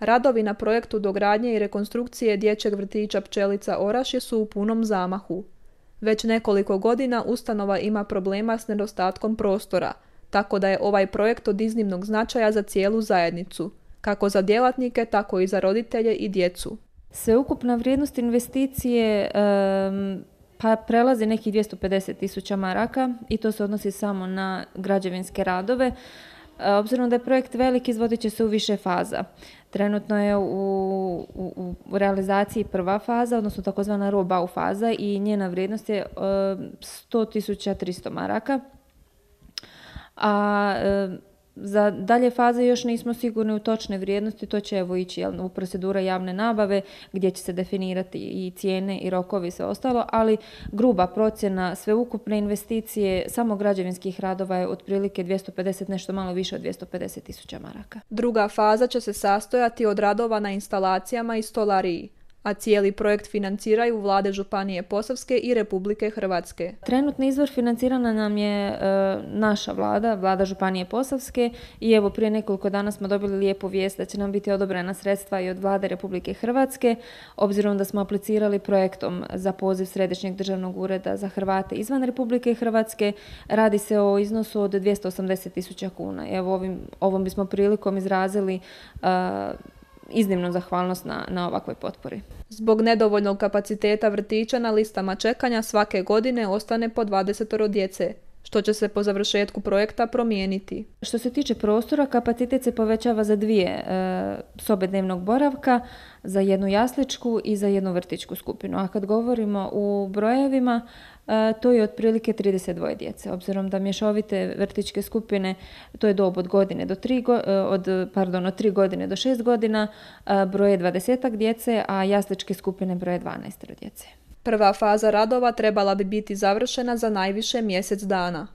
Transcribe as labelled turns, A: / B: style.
A: Radovi na projektu dogradnje i rekonstrukcije dječjeg vrtića Pčelica Orašje su u punom zamahu. Već nekoliko godina ustanova ima problema s nedostatkom prostora, tako da je ovaj projekt od iznimnog značaja za cijelu zajednicu, kako za djelatnike, tako i za roditelje i djecu.
B: Sveukupna vrijednost investicije pa prelazi nekih 250.000 maraka i to se odnosi samo na građevinske radove. Obzirom da je projekt velik, izvodit će se u više faza. Trenutno je u realizaciji prva faza, odnosno takozvana roll-bau faza i njena vrijednost je 100.300 maraka. A za dalje faze još nismo sigurni u točne vrijednosti, to će ići u procedura javne nabave gdje će se definirati i cijene i rokovi i sve ostalo, ali gruba procjena sveukupne investicije samo građevinskih radova je otprilike 250, nešto malo više od 250.000 maraka.
A: Druga faza će se sastojati od radova na instalacijama i stolariji, a cijeli projekt financiraju vlade Županije Posavske i Republike Hrvatske.
B: Trenutni izvor financirana nam je naša vlada Županije Posavske i evo prije nekoliko dana smo dobili lijepu vijest da će nam biti odobrena sredstva i od vlade Republike Hrvatske, obzirom da smo aplicirali projektom za poziv Središnjeg državnog ureda za Hrvate izvan Republike Hrvatske. Radi se o iznosu od 280.000 kuna. Evo ovom bismo prilikom izrazili iznimnu zahvalnost na ovakvoj potpori.
A: Zbog nedovoljnog kapaciteta vrtića na listama čekanja svake godine ostane po 20 djece, što će se po završetku projekta promijeniti.
B: Što se tiče prostora, kapacitet se povećava za 2 sobe dnevnog boravka, za jednu jasličku i za jednu vrtićku skupinu. A kad govorimo u brojevima, to je otprilike 32 djece. Obzirom da mješovite vrtićke skupine, to je dob od 3 godine do 6 godina, broje 20 djece, a jasličke skupine broje 12 djece.
A: Prva faza radova trebala bi biti završena za najviše mjesec dana.